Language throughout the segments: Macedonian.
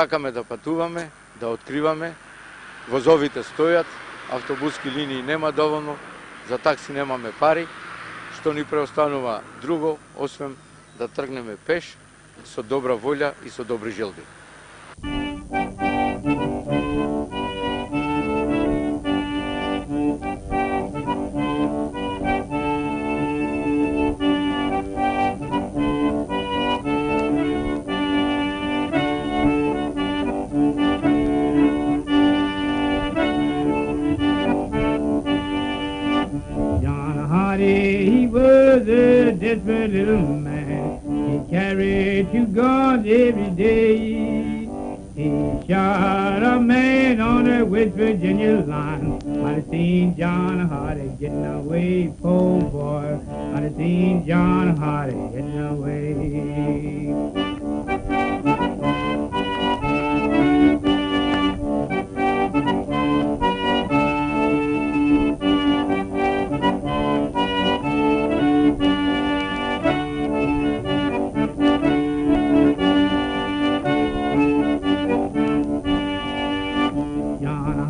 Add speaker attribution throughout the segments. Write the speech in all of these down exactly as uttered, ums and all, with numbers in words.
Speaker 1: сакаме да патуваме, да откриваме, возовите стојат, автобуски линии нема доволно, за такси немаме пари, што ни преостанува друго, освен да тргнеме пеш, со добра волја и со добри желби.
Speaker 2: He was a desperate little man. He carried two guns every day. He shot a man on the West Virginia line. I'd have seen John Hardy getting away, poor boy. I'd have seen John Hardy getting away.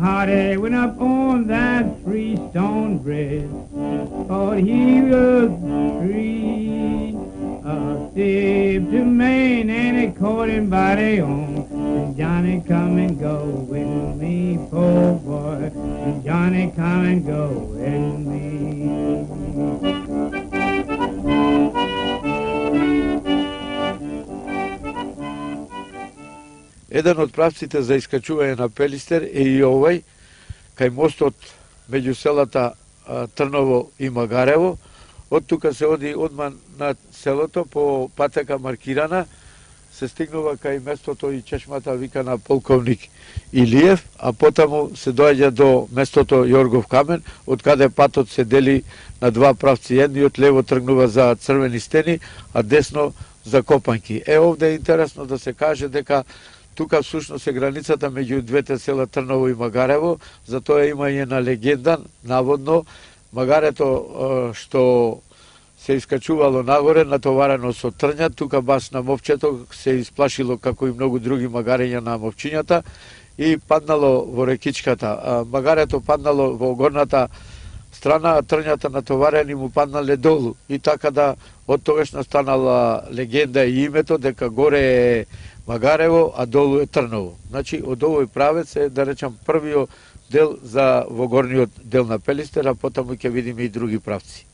Speaker 2: Hardy went up on that Freestone Bridge, thought he was free. A step to Maine and he caught him by the arm. And Johnny, come and go with me, poor boy. And Johnny, come and go with me.
Speaker 1: Еден од правците за искачување на Пелистер е и овој, кај мостот меѓу селата Трново и Магарево. Од тука се оди одма на селото по патека маркирана, се стигнува кај местото и чешмата викана Полковник Илиев, а потаму се доаѓа до местото Јоргов камен, од каде патот се дели на два правци. Едниот лево тргнува за Црвени стени, а десно за Копанки. Е, овде е интересно да се каже дека тука всушност е границата меѓу двете села Трново и Магарево, затоа има и една легенда, наводно, Магарето што се искачувало нагоре, натоварено со трња, тука баш на мовчето се исплашило, како и многу други магарења на мовчињата, и паднало во рекичката. Магарето паднало во горната страна, а трњата натоварени му паднале долу. И така да од тогаш настанала легенда и името дека горе е Магарево, а долу е Трново. Значи, од овој правец е, да речам, првиот дел за во горниот дел на Пелистер, а потаму ќе видиме и други правци.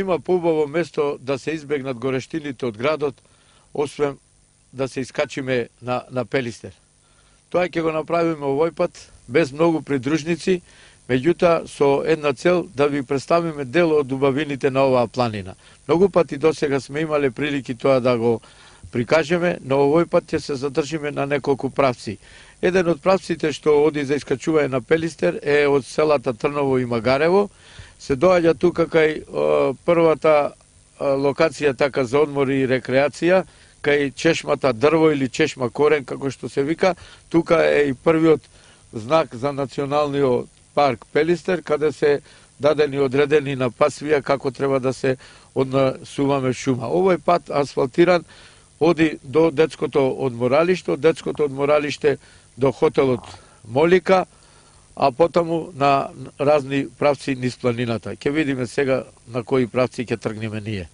Speaker 1: нема поубаво место да се избегнат горештините од градот, освен да се искачиме на, на Пелистер. Тоа ќе го направиме овој пат, без многу придружници, меѓутоа со една цел да ви представиме дел од убавините на оваа планина. Многу пати досега сме имале прилики тоа да го прикажеме, но овој пат ќе се задржиме на неколку правци. Еден од правците што оди за искачување на Пелистер е од селата Трново и Магарево. Се доаѓа тука кај о, првата о, локација така за одмор и рекреација, кај чешмата Дрво или чешма Корен, како што се вика. Тука е и првиот знак за националниот парк Пелистер, каде се дадени одредени на пасвија како треба да се однесуваме шума. Овој пат асфалтиран оди до детското одморалиште, од детското одморалиште до хотелот Молика, а потаму на разни правци низ планината. Ќе видиме сега на кои правци ќе тргнеме ние.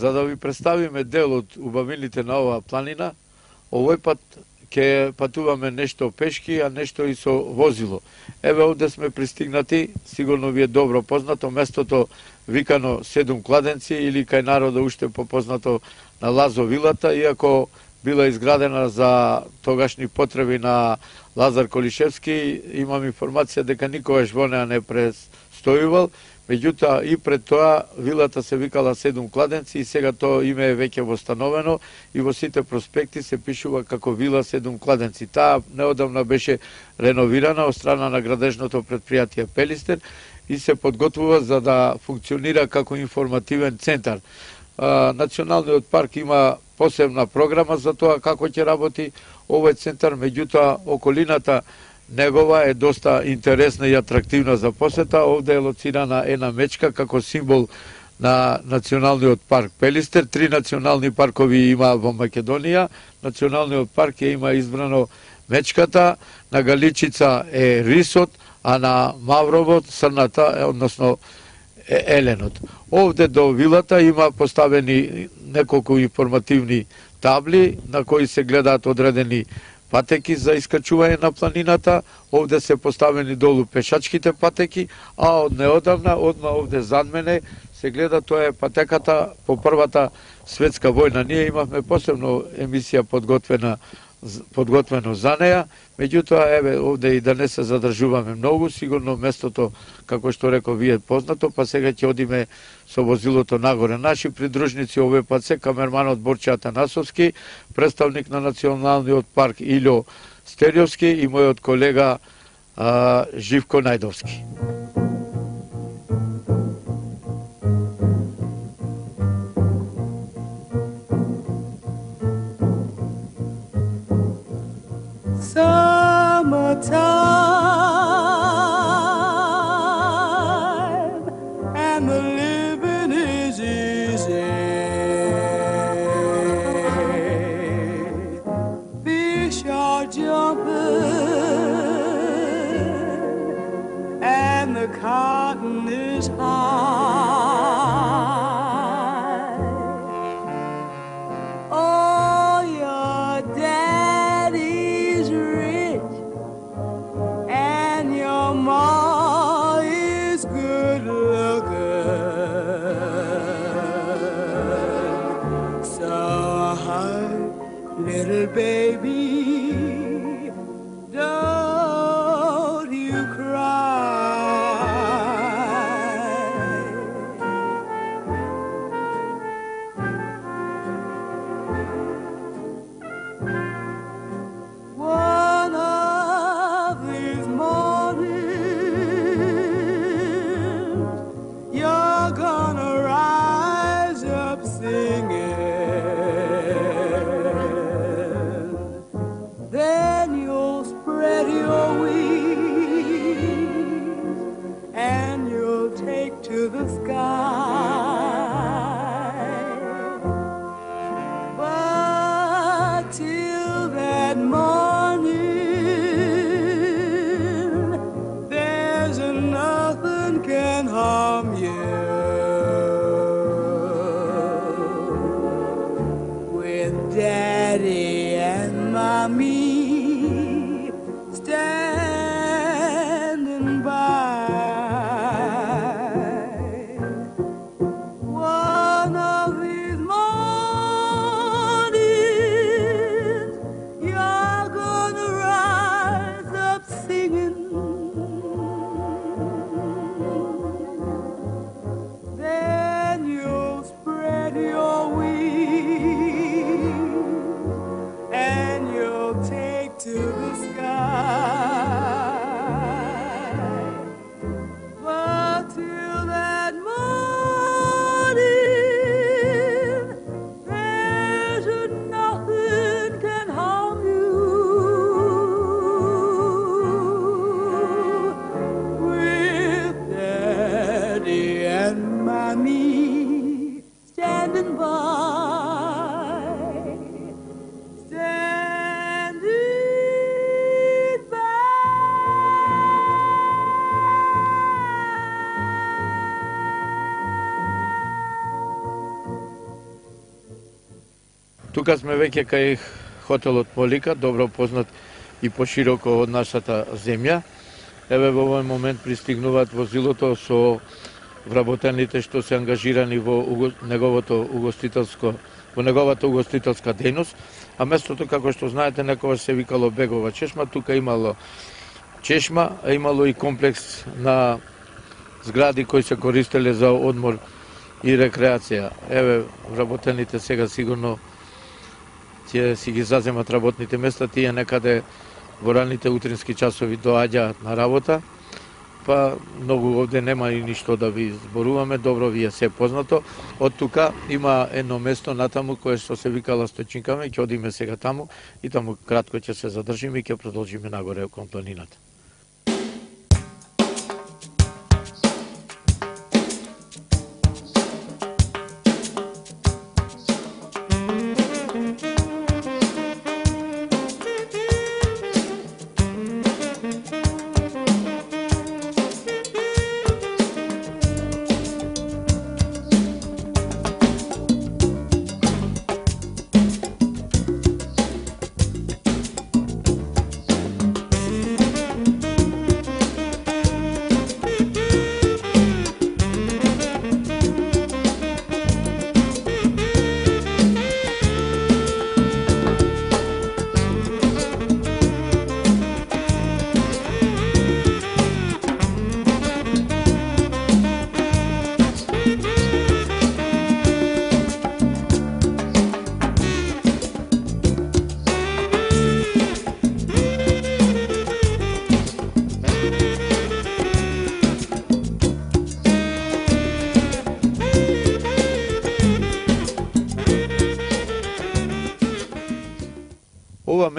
Speaker 1: За да ви представиме дел од убавините на оваа планина, овој пат ќе патуваме нешто пешки, а нешто и со возило. Еве овде сме пристигнати, сигурно ви е добро познато, местото викано Седум кладенци или кај народа уште попознато на Лазо вилата, иако била изградена за тогашни потреби на Лазар Колишевски, имам информација дека никогаш во неа не престојувал. Меѓутоа и пред тоа вилата се викала Седум кладенци и сега тоа име е веќе восстановено и во сите проспекти се пишува како вила Седум кладенци. Таа неодамна беше реновирана од страна на градежното претпријатие Пелистер и се подготвува за да функционира како информативен центар. Националниот парк има посебна програма за тоа како ќе работи овој центар, меѓутоа околината негова е доста интересна и атрактивна за посета. Овде е лоцирана една мечка како символ на Националниот парк Пелистер. Три национални паркови има во Македонија. Националниот парк е има избрано мечката, на Галичица е рисот, а на Мавровот срната, односно еленот. Овде до вилата има поставени неколку информативни табли на кои се гледаат одредени патеки за искачување на планината. Овде се поставени долу пешачките патеки, а од неодамна, одма овде зад мене, се гледа, тоа е патеката по првата светска војна. Ние имавме посебно емисија подготвена подготвено за неа, меѓутоа еве овде и да не се задржуваме многу, сигурно местото како што реков вие познато, па сега ќе одиме со возилото нагоре. Наши придружници овој пат се камерманот Борче Атанасовски, представник на Националниот парк Илјо Стериовски и мојот колега а, Живко Најдовски.
Speaker 3: Summertime and the living is easy. Fish are jumping and the cotton is high. Oh, your daddy's rich and your ma is good looking. So, little baby, don't you cry. One of these mornings, you're gonna rise up singing. Then you'll spread your wings and you'll take to the sky. But till that morning, there's nothing can harm you. With Daddy and Mommy standing by. One of these mornings, you're gonna rise up singing. Then you'll spread your wings and you'll take to the sky. But till that morning, there's nothing can harm you. With Daddy and Mommy standing by. Standing by.
Speaker 1: Тука сме веќе кај хотелот Полика, добро познат и пошироко од нашата земја. Еве во овој момент пристигнуваат возилото со вработените што се ангажирани во уго- неговото угостителско во неговата угостителска дејност, а местото како што знаете некогаш се викало Бегова чешма, тука имало чешма, а имало и комплекс на згради кои се користеле за одмор и рекреација. Еве вработените сега сигурно ќе си ги заземат работните места, тие некаде во раните утрински часови доаѓаат на работа, па многу овде нема и ништо да ви зборуваме, добро ви е се познато. Од тука има едно место натаму кое што се викала Стојчинкаме, ќе одиме сега таму и таму кратко ќе се задржиме и ќе продолжиме нагоре кон планината.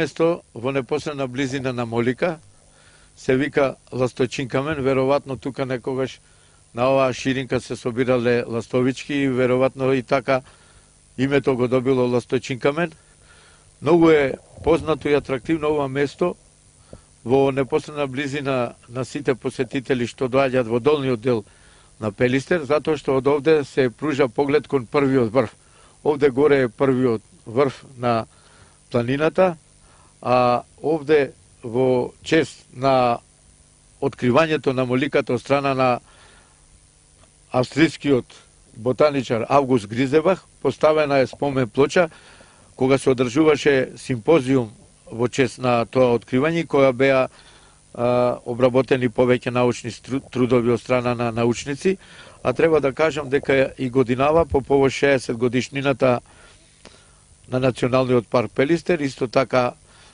Speaker 1: место во непосредна близина на Молика се вика Ласточин камен, веројатно тука некогаш на оваа ширинка се собирале ластовички и веројатно и така името го добило Ласточин камен. Многу е познато и атрактивно ова место во непосредна близина на сите посетители што доаѓаат во долниот дел на Пелистер, затоа што од овде се пружа поглед кон првиот врв. Овде горе е првиот врв на планината, а овде во чест на откривањето на Моликата од страна на австрискиот ботаничар Август Гризебах поставена е спомен плоча кога се одржуваше симпозиум во чест на тоа откривање, која беа а, обработени повеќе научни трудови од страна на научници, а треба да кажам дека и годинава по повод шеесет годишнината на Националниот парк Пелистер, исто така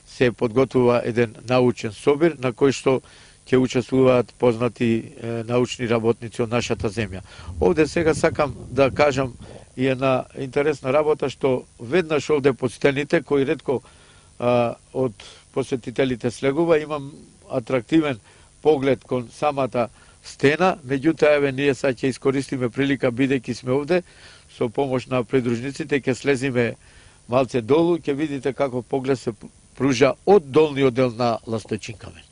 Speaker 1: се подготвува еден научен собир на кој што ќе учествуваат познати е, научни работници од нашата земја. Овде сега сакам да кажам и една интересна работа што веднаш овде под стените, кој ретко а, од посетителите слегува, имам атрактивен поглед кон самата стена, меѓутоа еве ние сега ќе искористиме прилика бидејќи сме овде со помош на придружниците, ќе слезиме малце долу, ќе видите како поглед се пружа од долниот дел на Ласточин камен.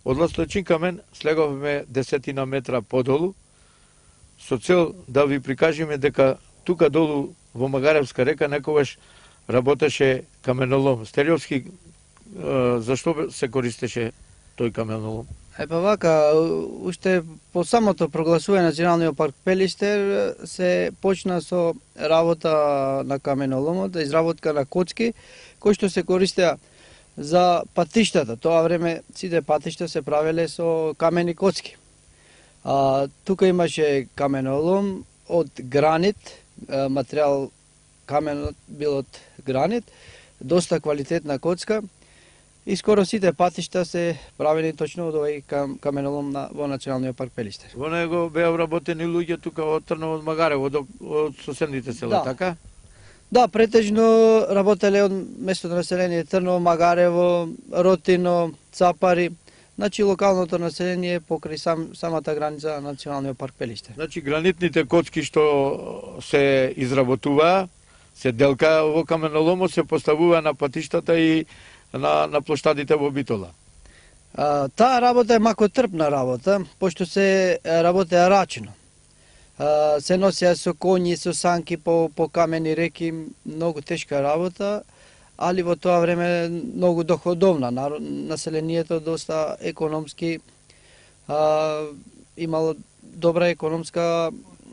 Speaker 1: Од Ласточин камен слеговме десетина метра подолу, со цел да ви прикажеме дека тука долу во Магаревска река некогаш работеше каменолом. Стериовски, зашто се користеше тој каменолом?
Speaker 4: Е, па вака, уште по самото прогласување на Националниот парк Пелистер се почна со работа на каменоломот, изработка на коцки, кои што се користеа за патиштата. Тоа време сите патишта се правеле со камени коцки. А, тука имаше каменолом од гранит, материјал каменот бил од гранит, доста квалитетна коцка И скоро сите патишта се правени точно од овој кам, каменолом на, во Националниот парк Пелистер.
Speaker 1: Во него беа вработени луѓе тука од Трново, од Магарево, од, од соседните села,
Speaker 4: Да.
Speaker 1: така?
Speaker 4: Да, претежно работеле од местото население Трново, Магарево, Ротино, Цапари, значи локалното население покрај сам, самата граница на Националниот парк Пелистер.
Speaker 1: Значи гранитните коцки што се изработуваа, се делка во каменоломот, се поставува на патиштата и на, на плоштадите во Битола.
Speaker 4: А, таа работа е макотрпна работа, пошто се работеа рачно. А, се носеа со коњи, со санки по, по камени реки, многу тешка работа, али во тоа време многу доходовна. Населението доста економски а, имало добра економска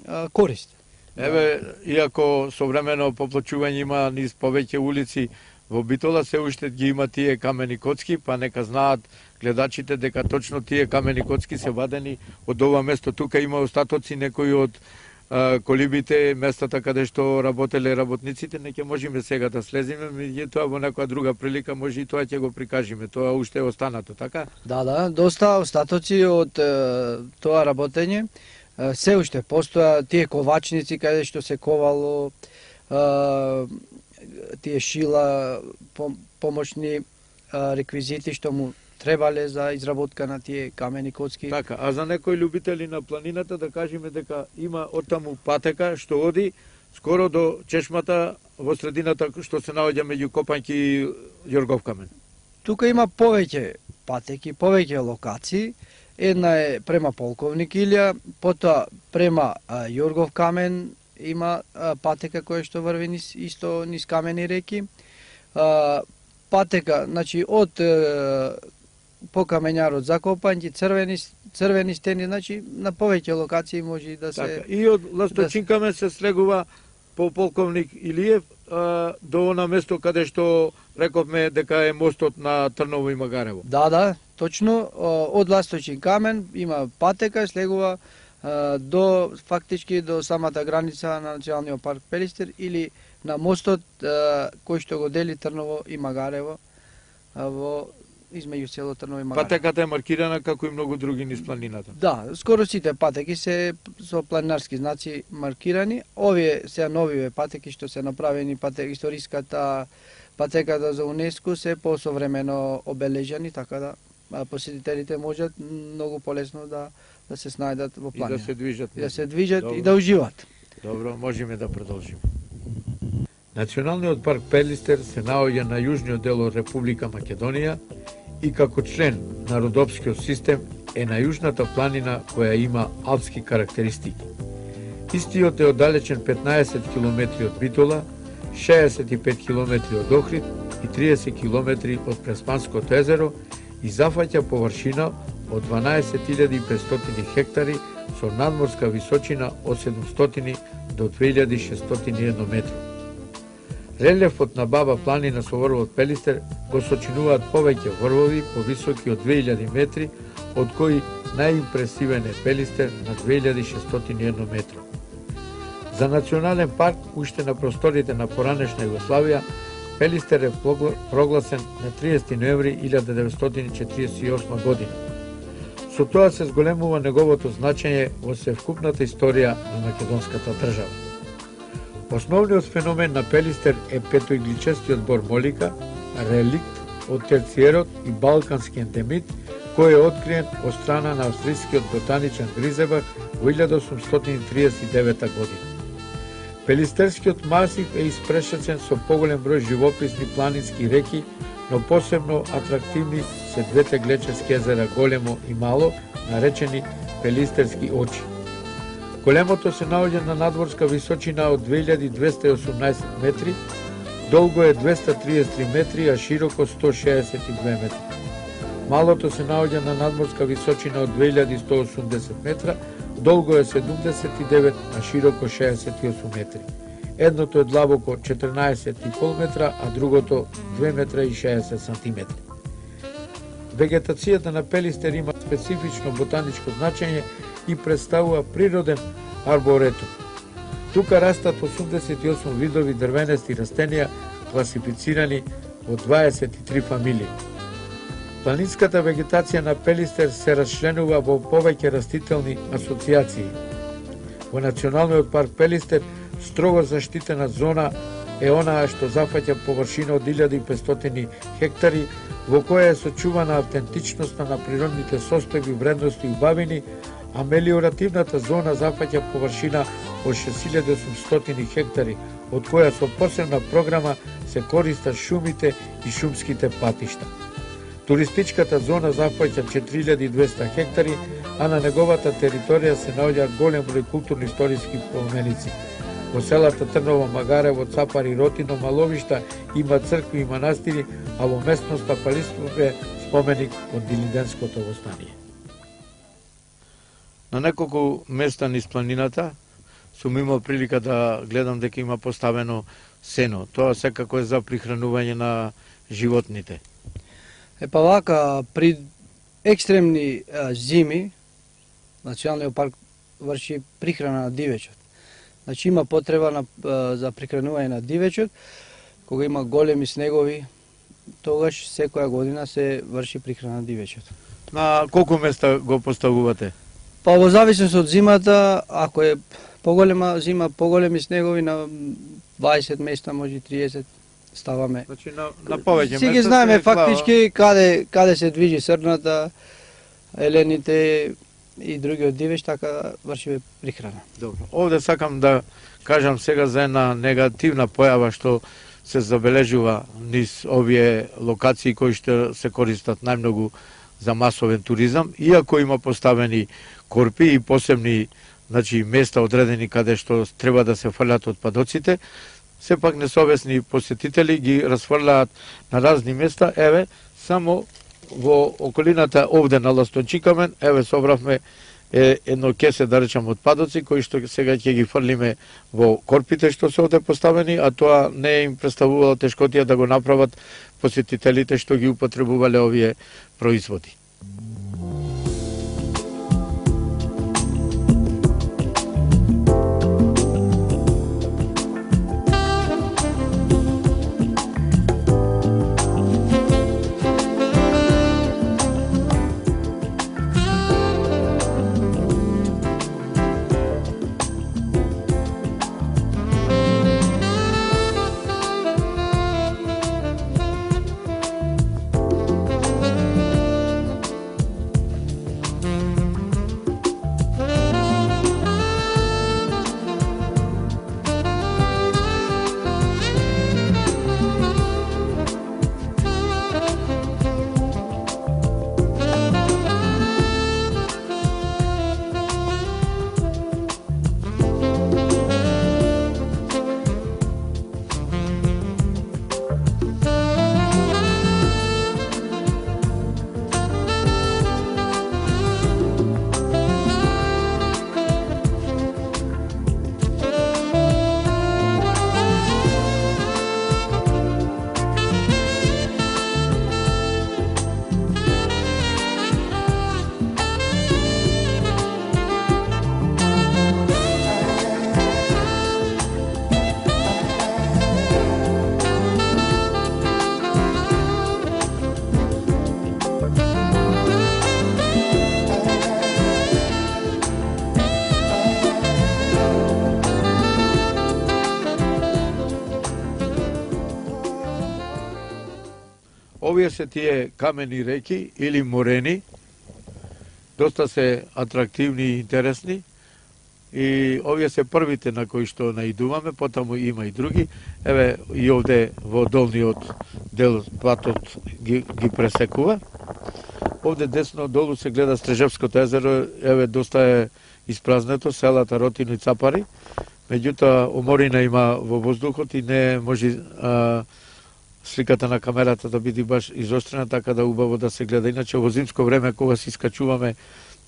Speaker 4: а, корист.
Speaker 1: Еве, иако современо поплачување има низ повеќе улици во Битола, се уште ги има тие камени коцки, па нека знаат гледачите дека точно тие камени коцки се вадени од ова место. Тука има остатоци некои од а, колибите, местата каде што работеле работниците, не ќе можеме сега да слезиме, меѓутоа во некоја друга прилика може и тоа ќе го прикажеме, тоа уште е останато, така?
Speaker 4: Да, да, доста остатоци од е, тоа работење. Е, се уште постоја тие ковачници каде што се ковало, е, тие шила, помошни реквизити што му требале за изработка на тие камени коцки.
Speaker 1: Така, а за некои љубители на планината да кажеме дека има оттаму патека што оди скоро до чешмата во средината што се наоѓа меѓу Копањки и Јоргов камен.
Speaker 4: Тука има повеќе патеки, повеќе локации. Една е према Полковник Илија, потоа према а, Јоргов камен, има а, патека која што врви низ, исто низ камени реки. А, патека, значи од а, по камењарот за Копањки, црвени, црвени стени, значи на повеќе локации може да се...
Speaker 1: Така, и од Ласточин камен се слегува по Полковник Илиев а, до она место каде што рековме дека е мостот на Трново и Магарево.
Speaker 4: Да, да, точно. Од Ласточин камен има патека, слегува до фактички до самата граница на Националниот парк Пелистер или на мостот кој што го дели Трново и Магарево во измеѓу село Трново и Магарево.
Speaker 1: Патеката е маркирана како и многу други низ планината.
Speaker 4: Да, скоро сите патеки се со планинарски знаци маркирани. Овие се новиве патеки што се направени, патека историската патеката за УНЕСКО се посовремено обележани, така да посетителите можат многу полесно да да се снајдат во планина.
Speaker 1: И да се движат.
Speaker 4: И да се движат
Speaker 1: Добро.
Speaker 4: и да уживат.
Speaker 1: Добро, можеме да продолжиме. Националниот парк Пелистер се наоѓа на јужниот дел од Република Македонија и како член на Родопскиот систем е на јужната планина која има алпски карактеристики. Истиот е оддалечен петнаесет километри од Битола, шеесет и пет километри од Охрид и триесет километри од Преспанското езеро и зафаќа површина од дванаесет илјади и петстотини хектари со надморска височина од седумстотини до две илјади шестстотини и едно метри. Релефот на Баба планина со врвот Пелистер го сочинуваат повеќе врвови повисоки од две илјади метри, од кои најимпресивен е Пелистер на две илјади шестстотини и едно метри. За национален парк, уште на просторите на поранешна Југославија, Пелистер е прогласен на триесети ноември илјада деветстотини четиридесет и осма година. Со тоа се зголемува неговото значење во севкупната историја на македонската држава. Основниот феномен на Пелистер е петоигличестиот бор молика, реликт од терциерот и балкански ендемит, кој е откриен од страна на австрискиот ботаничар Гризебах во илјада осумстотини триесет и девета година. Пелистерскиот масив е испрешечен со поголем број живописни планински реки, но посебно атрактивни се двете глечерски езера Големо и Мало, наречени Пелистерски очи. Големото се наоѓа на надворска височина од две илјади двесте и осумнаесет метри, долго е двесте триесет и три метри, а широко сто шеесет и две метри. Малото се наоѓа на надморска височина од две илјади сто осумдесет метра, долго е седумдесет и девет, а широко шеесет и осум метри. Едното е длабоко четрнаесет и пол метра, а другото две метра и шеесет сантиметри. Вегетацијата на Пелистер има специфично ботаничко значење и представува природен арборетум. Тука растат осумдесет и осум видови дрвенести растенија, класифицирани во дваесет и три фамилии. Планинската вегетација на Пелистер се расчленува во повеќе растителни асоциации. Во Националниот парк Пелистер строго заштитена зона е онаа што зафаќа површина од илјада и петстотини хектари, во која е сочувана автентичноста на природните состојби, вредности и убавини, а мелиоративната зона зафаќа површина од шест илјади и осумстотини хектари, од која со посебна програма се користат шумите и шумските патишта. Туристичката зона зафаќа четири илјади и двесте хектари, а на неговата територија се наоѓа голем број културно-историски поменици. Во селата Трново, Магарево, Цапари, Ротино, Маловишта има цркви и манастири, а во местноста Палистов е споменик од Дилиденското востание. На неколку места низ планината сум имал прилика да гледам дека има поставено сено. Тоа секако е за прихранување на животните.
Speaker 4: Е па вака, при екстремни а, зими, Националниот парк врши прихрана на дивечот. Значи има потреба на, а, за прихранување на дивечот, кога има големи снегови, тогаш секоја година се врши прихрана на дивечот.
Speaker 1: На колку места го поставувате?
Speaker 4: Па во зависност од зимата, ако е поголема зима, поголеми снегови, на дваесет места, може триесет ставаме.
Speaker 1: Значи на, на повеќе места.
Speaker 4: Си ги знаеме фактички каде каде се движи срната, елените и другиот дивеч, така вршиме прихрана.
Speaker 1: Добро. Овде сакам да кажам сега за една негативна појава што се забележува низ овие локации кои што се користат најмногу за масовен туризам, иако има поставени корпи и посебни, значи, места одредени каде што треба да се фрлат отпадоците, сепак несовесни посетители ги расфрлаат на разни места. Еве, само во околината овде на Ластончикамен, еве собравме е, едно кесе, да речам, отпадоци, кои што сега ќе ги фрлиме во корпите што се овде поставени, а тоа не им представувало тешкотија да го направат посетителите што ги употребувале овие производи. Овие се тие камени реки или морени, доста се атрактивни и интересни, и овие се првите на кои што наидуваме, потаму има и други. Еве и овде во долниот дел патот ги, ги пресекува. Овде десно долу се гледа Стрежевското езеро, еве доста е испразнето, селата Ротино и Цапари. Меѓутоа, оморина има во воздухот и не може а, сликата на камерата да биде баш изострена, така да убаво да се гледа. Иначе во зимско време, кога се искачуваме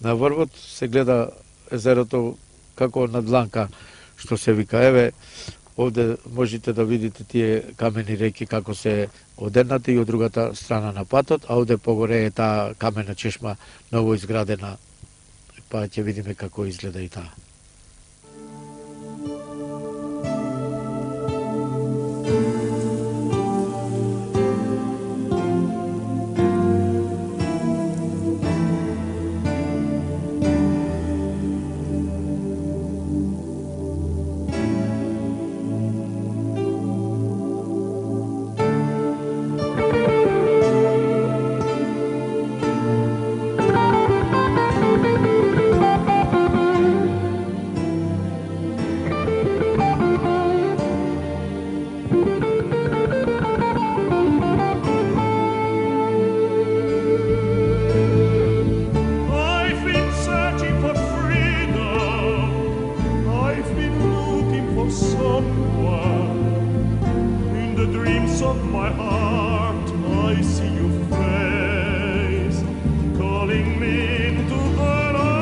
Speaker 1: на врвот, се гледа езерото како на дланка, што се вика. Еве, овде можете да видите тие камени реки како се од едната и од другата страна на патот, а овде погоре е таа камена чешма ново изградена, па ќе видиме како изгледа и таа.
Speaker 5: depths of my heart I see your face calling me into the light.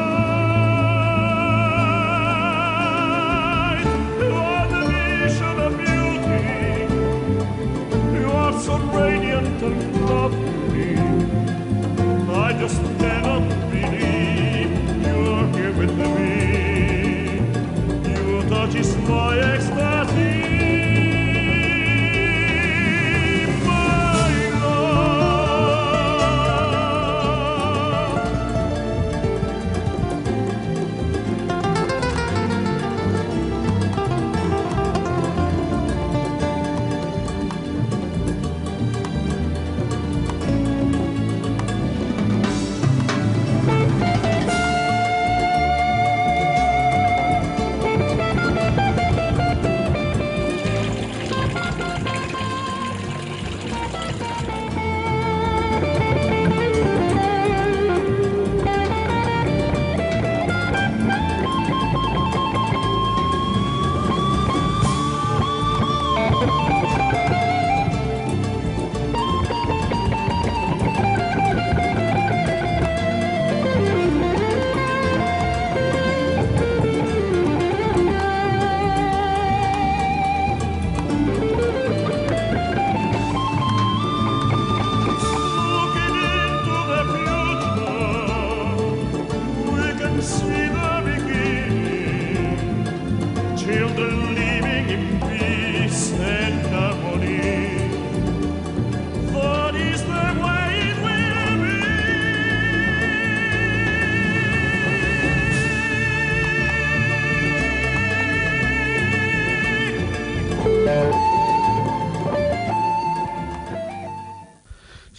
Speaker 5: You are the vision of beauty. You are so radiant and lovely. I just cannot believe you are here with me. Your touch is my ecstasy.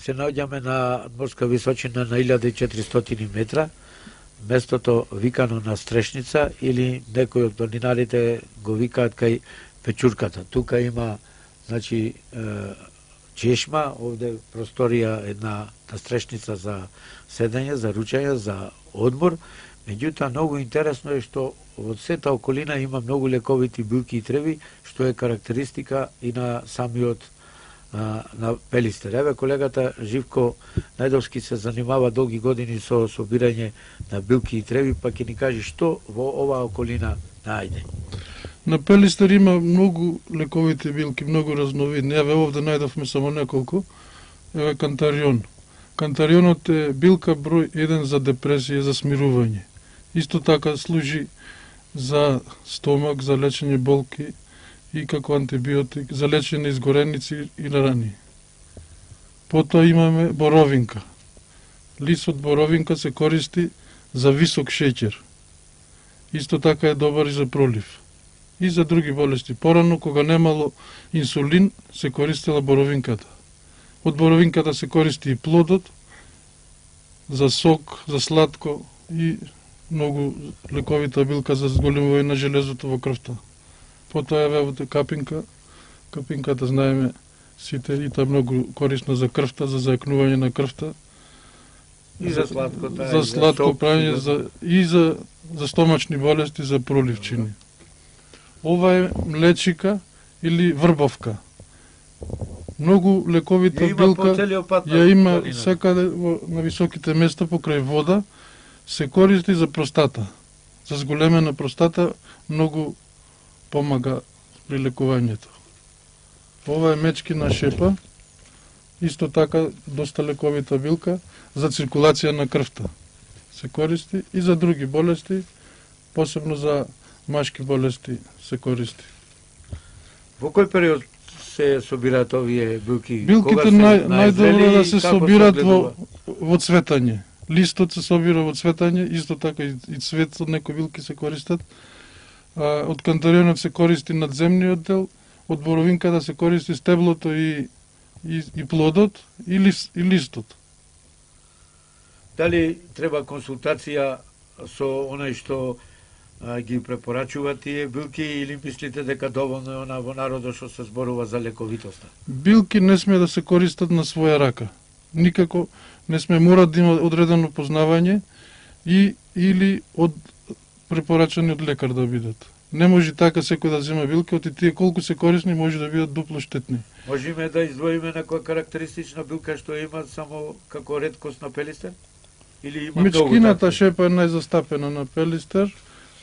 Speaker 1: Се наоѓаме на морска височина на илјада и четиристотини метра, местото викано на Стрешница или некои од планинарите го викаат кај Печурката. Тука има, значи, чешма, овде просторија една на Стрешница за седење, за ручање, за одмор. Меѓутоа, многу интересно е што од сета околина има многу лековити билки и треви, што е карактеристика и на самиот на Пелистер. Еве колегата Живко Најдовски се занимава долги години со собирање на билки и треви, па ќе ни каже што во оваа околина најде.
Speaker 6: На Пелистер има многу лековити билки, многу разновидни. Еве овде најдовме само неколку. Еве кантарион. Кантарионот е билка број еден за депресија, за смирување. Исто така служи за стомак, за лечење болки и како антибиотик, за лечење изгореници и рани. Потоа имаме боровинка. Лист од боровинка се користи за висок шеќер. Исто така е добар и за пролив. И за други болести. Порано, кога немало инсулин, се користела боровинката. Од боровинката се користи и плодот, за сок, за сладко и многу лековита билка за зголемување на железото во крвта. Потоа е вевоте капинка. Капинката знаеме сите и таа многу корисна за крвта, за зајакнување на крвта.
Speaker 1: И за сладкота,
Speaker 6: за
Speaker 1: и
Speaker 6: сладко
Speaker 1: за
Speaker 6: прање, за, и за, за стомачни болести, за проливчини. Ова е млечика или врбовка. Многу лековита
Speaker 1: ја има
Speaker 6: билка,
Speaker 1: по целиот пат
Speaker 6: ја има
Speaker 1: планина.
Speaker 6: секаде на високите места покрај вода, се користи за простата. За зголемена простата многу помага при лекувањето. Ова е мечкина шепа, исто така доста лековита билка за циркулација на крвта. Се користи и за други болести, посебно за машки болести се користи.
Speaker 1: Во кој период се собираат овие билки?
Speaker 6: Билките нај, најдобро да се собираат во, во цветање. Листот се собира во цветање, исто така и, и цвет од некои билки се користат. А, од кантарионот се користи надземниот дел, од боровинката се користи стеблото и, и, и плодот и, лист, и листот.
Speaker 1: Дали треба консултација со оној што а, ги препорачува тие билки или мислите дека доволно е она во народот што се зборува за лековитоста?
Speaker 6: Билки не сме да се користат на своја рака. Никако не сме мора да има одредено познавање и или од препорачани од лекар да бидат. Не може така секој да зема билки, оти тие колку се корисни може да бидат дупло штетни.
Speaker 1: Можеме да издвоиме некоја карактеристична билка што има само како реткост на пелистер? Или има многу?
Speaker 6: Мичкината шепа е најзастапена на пелистер,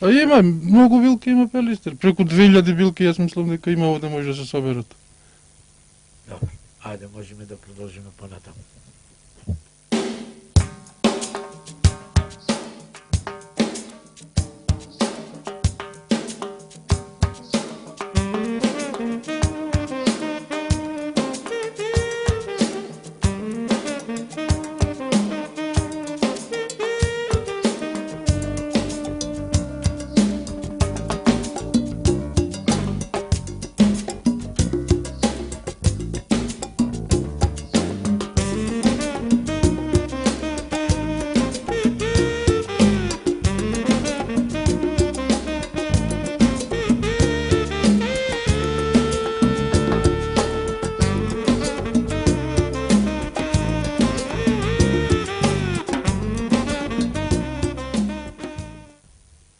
Speaker 6: а има многу билки, има пелистер. Преку две илјади билки, јас мислам дека има овде може да се соберат.
Speaker 1: Добро, ајде можеме да продолжиме понатаму.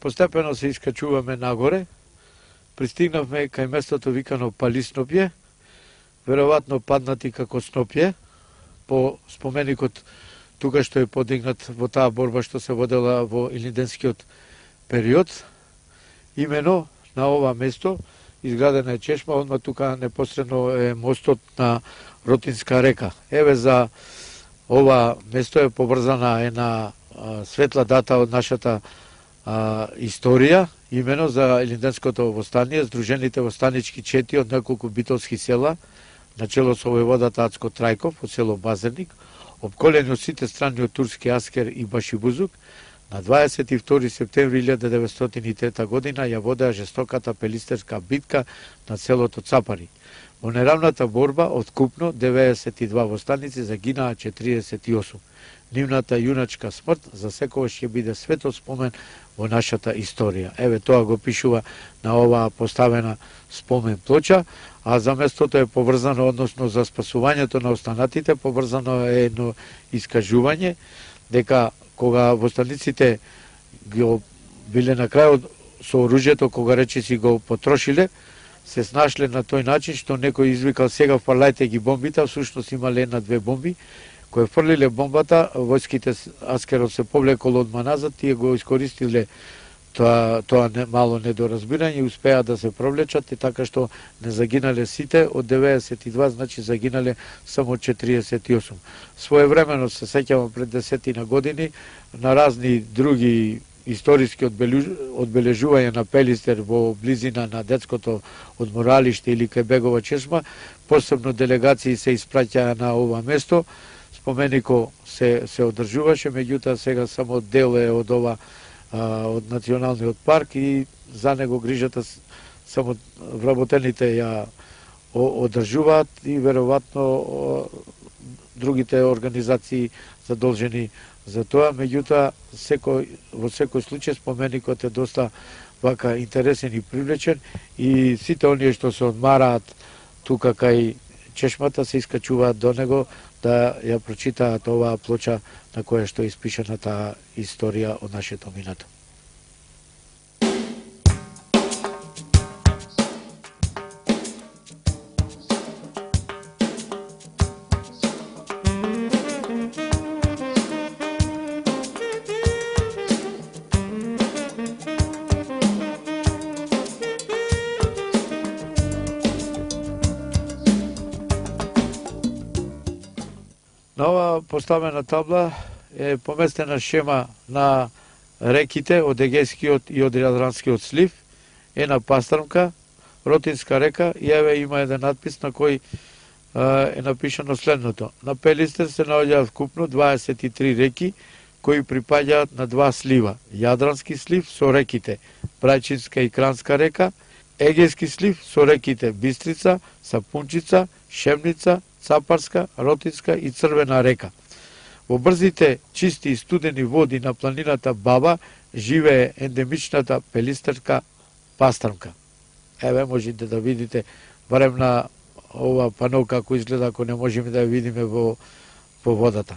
Speaker 1: Постепено се искачуваме нагоре, пристигнавме кај местото викано Палиснопје, веројатно паднати како Снопје, по споменикот тука што е подигнат во таа борба што се водела во илинденскиот период. Имено на ова место изградена е чешма, одма тука непосредно е мостот на Ротинска река. Еве за ова место е поврзана една светла дата од нашата А, историја, имено за Илинденското востание, Сдружените востанички чети од неколку битолски села, начело со војводата Ацко Трајков од село Базерник, обколени од сите страни од турски аскер и Башибузук, на дваесет и втори септември илјада деветстотини и трета година ја водеа жестоката пелистерска битка на селото Цапари. Во неравната борба од купно деветдесет и два востаници загинаа четиридесет и осум. Нивната јуначка смрт за секогаш ќе биде светол спомен во нашата историја. Еве тоа го пишува на оваа поставена спомен плоча, а за местото е поврзано, односно за спасувањето на останатите, поврзано е едно искажување дека кога востаниците го биле на крајот со оружјето, кога речиси го потрошиле, се снашле на тој начин што некој извикал сега фрлајте ги бомбите, а всушност имале една-две бомби, кои фрлиле бомбата, војските аскерот се повлекол одма назад, тие го искористиле тоа, тоа не, мало недоразбирање и успеа да се провлечат и така што не загинале сите, од деветдесет и два, значи загинале само четиридесет и осум. Своевремено се сеќавам пред десетина години на разни други историски одбележувања на Пелистер во близина на детското одморалиште или кај Бегова чешма, посебно делегации се испраќаа на ова место. Споменико се се одржуваше, меѓутоа сега само дел е од ова а, од националниот парк и за него грижата само вработените ја одржуваат и веројатно другите организации задолжени за тоа, меѓутоа секој во секој случај споменикот е доста вака интересен и привлечен и сите оние што се одмараат тука кај чешмата се искачуваат до него да ја прочитаат оваа плоча на која што е испишана таа историја од нашето минато. На оваа поставена табла е поместена шема на реките од Егејскиот и од Јадранскиот слив, една пастрмка, Ротинска река, и еве има еден надпис на кој е напишано следното. На Пелистер се наоѓаат вкупно дваесет и три реки кои припаѓаат на два слива. Јадрански слив со реките Брајчинска и Кранска река, Егејски слив со реките Бистрица, Сапунчица, Шемница, Цапарска, Ротинска и Црвена река. Во брзите, чисти и студени води на планината Баба живее ендемичната пелистерска пастрмка. Еве можете да видите барем на ова пано како изгледа, ако не можеме да ја видиме во, во водата.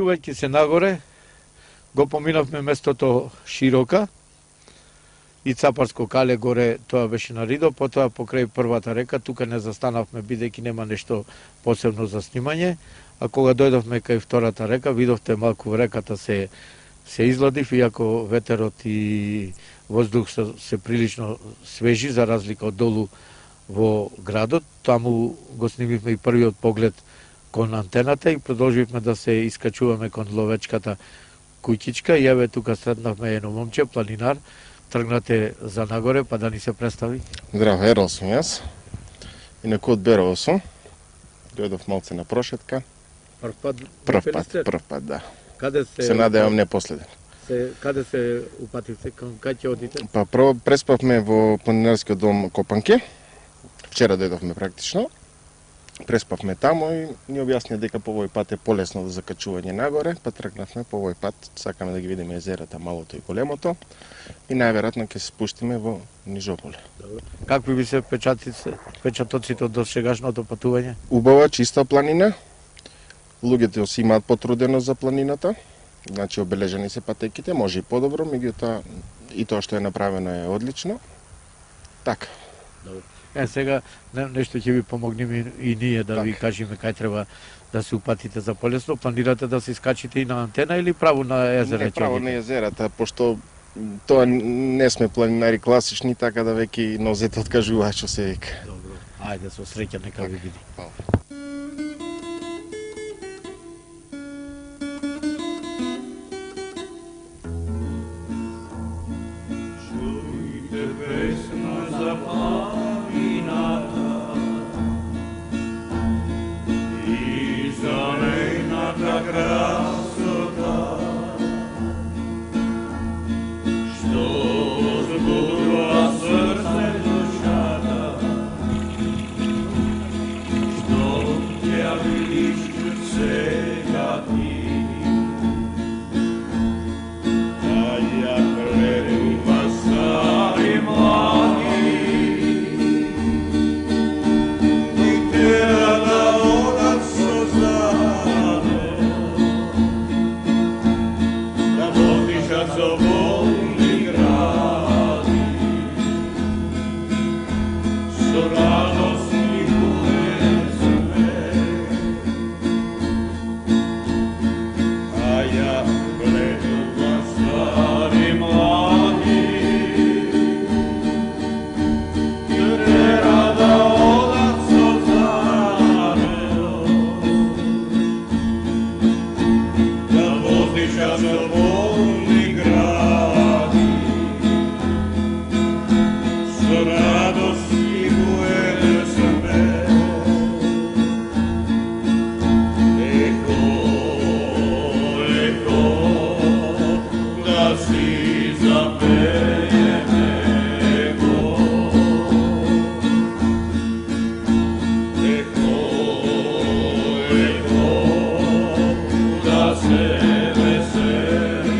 Speaker 1: искачувајќи се нагоре, го поминавме местото Широка и Цапарско кале горе, тоа беше на Ридо, потоа покрај првата река, тука не застанавме бидејќи нема нешто посебно за снимање, а кога дојдовме кај втората река, видовте малку реката се се изладив, иако ветерот и воздух се, се прилично свежи, за разлика од долу во градот. Таму го снимивме и првиот поглед кон антената и продолживме да се искачуваме кон ловечката куќичка. И еве тука сретнавме едно момче, планинар, тргнате за нагоре, па да ни се представи.
Speaker 7: Здраво, Ерол сум јас. Инаку од Берово сум. Дојдов малце на прошетка.
Speaker 1: Прв пат?
Speaker 7: Прв пат, прв пат, да.
Speaker 1: Каде се...
Speaker 7: Се надевам не последен.
Speaker 1: Се, каде се упативте? Кај ќе одите?
Speaker 7: Па прво преспавме во планинарскиот дом Копанки. Вчера дојдовме практично. Преспавме таму и ни објаснија дека по овој пат е полесно за закачување нагоре, па тргнавме по овој пат, сакаме да ги видиме езерата, малото и големото, и најверојатно ќе се спуштиме во Нижополе.
Speaker 1: Какви би се печатите, печатоците од досегашното патување?
Speaker 7: Убава, чиста планина. Луѓето си имаат потрудено за планината, значи обележени се патеките, може и подобро, меѓутоа и тоа што е направено е одлично. Така.
Speaker 1: Добро. Е, сега не, нешто ќе ви помогнеме и ние да так. Ви кажеме кај треба да се упатите за полесно. Планирате да се искачите и на антена или право на езера?
Speaker 7: Не, право на езерата, пошто тоа не сме планинари класични, така да веќе нозете откажуваат што се вика.
Speaker 1: Добро. Ајде, со среќа, нека ви види.
Speaker 5: Чујте песна за планината и за нејната красота, што возбудува срце душата, што ќе видиш сега ти. А ја гледам вас стари млади, и тера да одат со зане, да воздишат со волни гради, со радост и бујесме. А ја гледам вас стари млади, тера да одат со зане, да воздишат со волни гради, со радост и бујесме. Ехо, ехо, да си запееме го. Ехо, ехо, да се веселиме.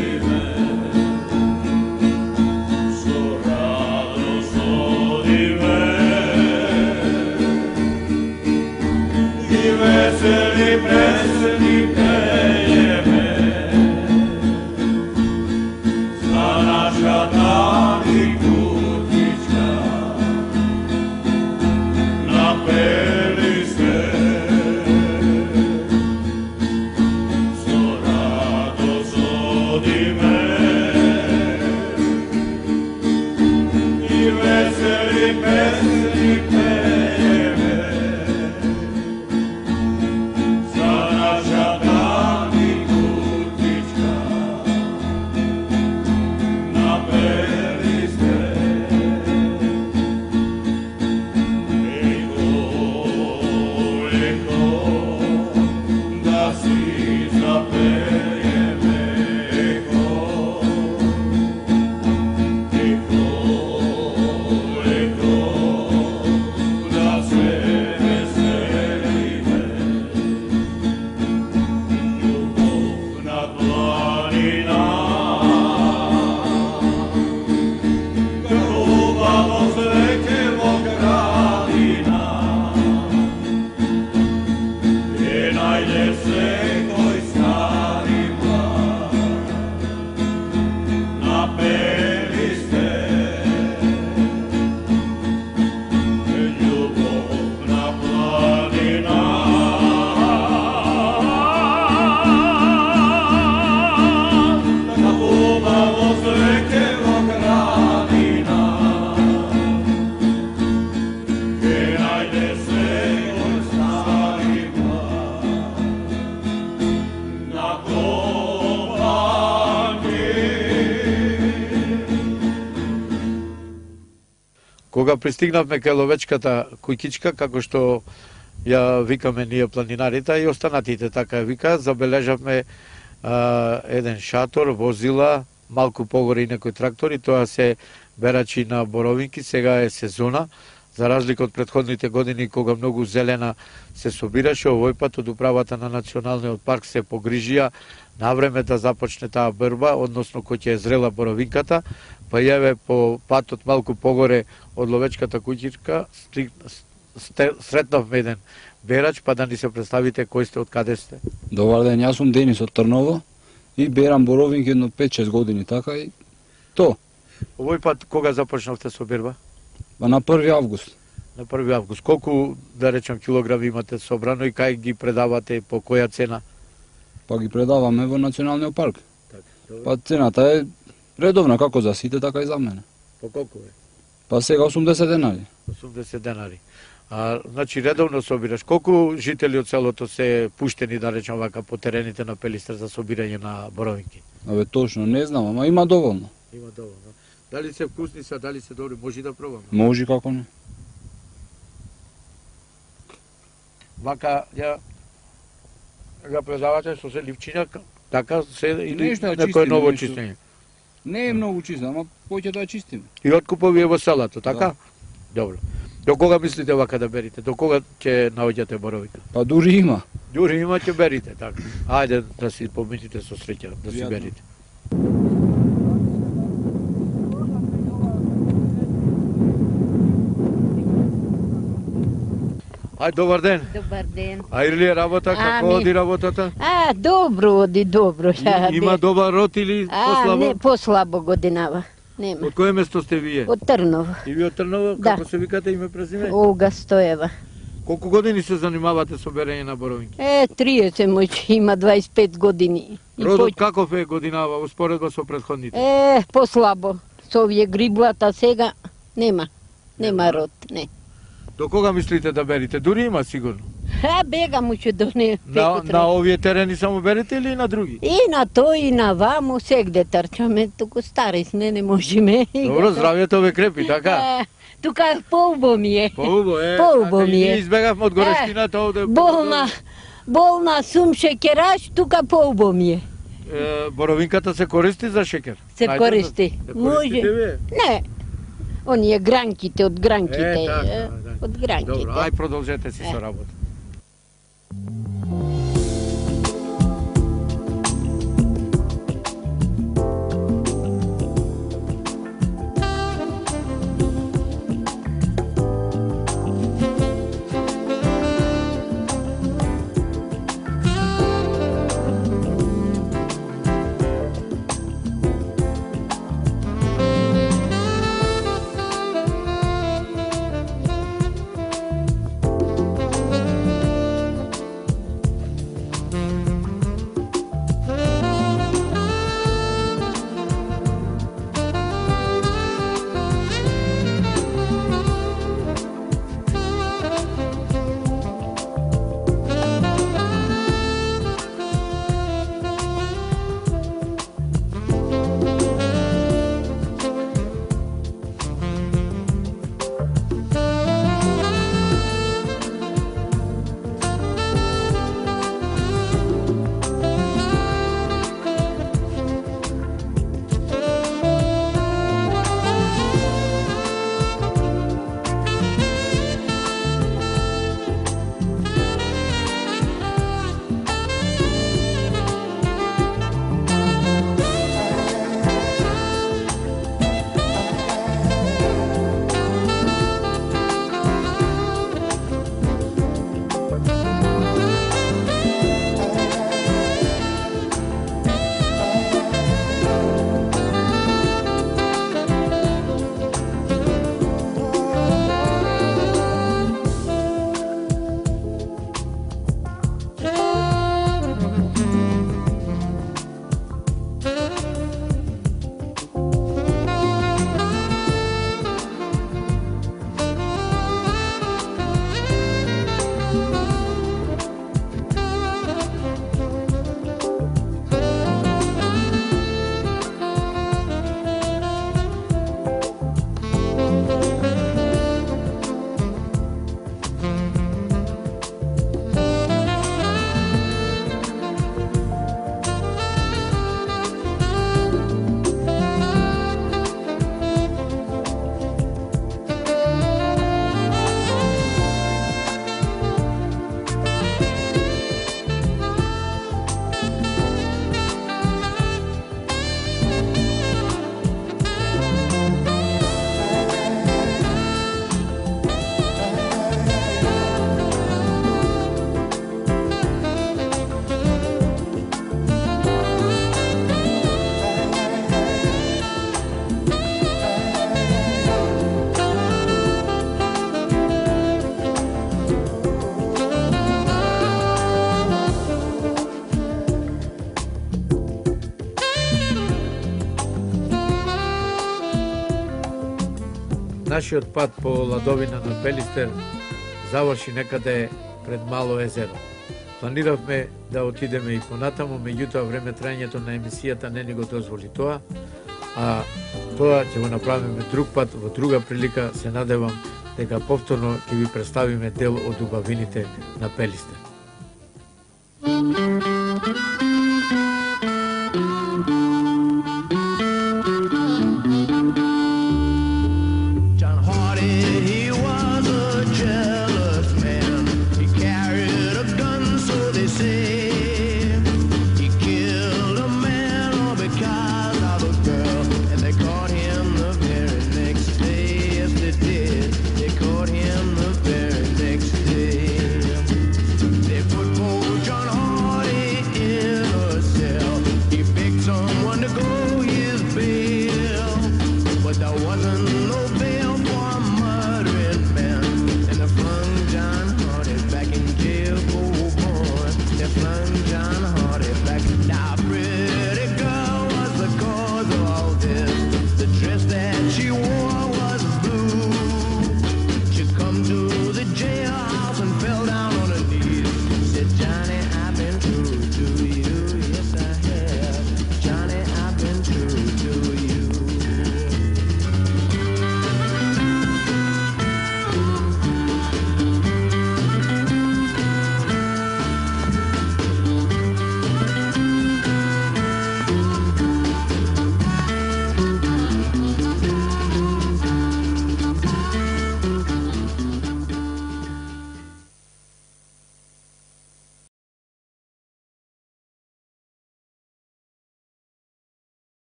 Speaker 1: Кога пристигнавме кај ловечката куќичка, како што ја викаме ние планинарите, и останатите така ја викаат, забележавме а, еден шатор, возила, малку погоре и некои трактори, тоа се берачи на боровинки, сега е сезона, за разлика од претходните години кога многу зелена се собираше, овој пат од управата на Националниот парк се погрижија на време да започне таа борба, односно кој ќе е зрела боровинката, па јаве по патот малку погоре од ловечката куќичка, сретнавме еден берач, па да ни се представите кој сте, од каде сте.
Speaker 8: Добар ден, јас сум Денис од Трново и берам боровинки едно пет-шест години, така и то.
Speaker 1: Овој пат кога започнавте со берба?
Speaker 8: Па на први август.
Speaker 1: На први август. Колку, да речем, килограми имате собрано и кај ги предавате, по која цена?
Speaker 8: Па ги предаваме во Националниот парк.
Speaker 1: Така,
Speaker 8: Па цената е редовна, како за сите, така и за мене.
Speaker 1: По колку е?
Speaker 8: Па сега осумдесет денари.
Speaker 1: осумдесет денари. А, значи, редовно собираш. Колку жители од селото се пуштени, да речем вака, по терените на Пелистер за собирање на боровинки?
Speaker 8: Абе, точно, не знам, ама има доволно.
Speaker 1: Има доволно. Дали се вкусни са, дали се добри, може да пробаме?
Speaker 8: Може, како не.
Speaker 1: Вака, ја ја предавате со се ливчина, така се или
Speaker 8: Нешто ја
Speaker 1: некој
Speaker 8: чистиме,
Speaker 1: ново
Speaker 8: нешто.
Speaker 1: чистење?
Speaker 8: Не е многу чисто, ама поќе да ја чистиме.
Speaker 1: И откупови во селото, така? Добро. До кога мислите вака да берите? До кога ќе наоѓате боровика?
Speaker 8: Па дури има.
Speaker 1: Дури има ќе берите, така. Ајде да си помините со среќа, да си
Speaker 8: Пријатно.
Speaker 1: берите. Ај, добар ден.
Speaker 9: Добар ден.
Speaker 1: А или е работа, како
Speaker 9: Ами.
Speaker 1: оди работата?
Speaker 9: А, добро оди, добро. Ја,
Speaker 1: Има
Speaker 9: бе.
Speaker 1: добар род или
Speaker 9: А,
Speaker 1: послабо?
Speaker 9: не, послабо годинава. Нема.
Speaker 1: Од кое место сте вие?
Speaker 9: Од Трново.
Speaker 1: И вие од Трново,
Speaker 9: Да.
Speaker 1: како се викате име презиме?
Speaker 9: Ога Стоева.
Speaker 1: Колку години се занимавате со берење на боровинки?
Speaker 9: Е, триесет мој има дваесет и пет години. И
Speaker 1: Родот
Speaker 9: по-
Speaker 1: каков е годинава, успоредба со претходните?
Speaker 9: Е, послабо. Со овие гриблата сега нема. Нема род, не.
Speaker 1: До кога мислите да берите? Дури има сигурно.
Speaker 9: А, бега му ќе до не.
Speaker 1: На, на овие терени само берете или и на други?
Speaker 9: И на тој и на ваму сегде трчаме, туку стари сме, не можеме.
Speaker 1: Добро, здравјето ве крепи, така?
Speaker 9: Е, тука поубо ми е.
Speaker 1: Поубо е.
Speaker 9: Поубо
Speaker 1: така,
Speaker 9: ми
Speaker 1: и
Speaker 9: е.
Speaker 1: ние избегавме од горешкината овде.
Speaker 9: Болна, болна сум шекераш, тука поубо ми е.
Speaker 1: Е, боровинката се користи за шекер?
Speaker 9: Се
Speaker 1: Најдете?
Speaker 9: користи.
Speaker 1: Се
Speaker 9: Може.
Speaker 1: користите вие?
Speaker 9: Не, оние гранките од гранките.
Speaker 1: Е, така,
Speaker 9: е,
Speaker 1: да.
Speaker 9: од гранките.
Speaker 1: Добро, ај продолжете си
Speaker 9: Е.
Speaker 1: со работа. нашиот пат по ладовина на Пелистер заврши некаде пред Мало езеро. Планиравме да отидеме и понатаму, меѓутоа време трајањето на емисијата не ни го дозволи тоа, а тоа ќе го направиме друг пат, во друга прилика. Се надевам дека повторно ќе ви представиме дел од убавините на Пелистер.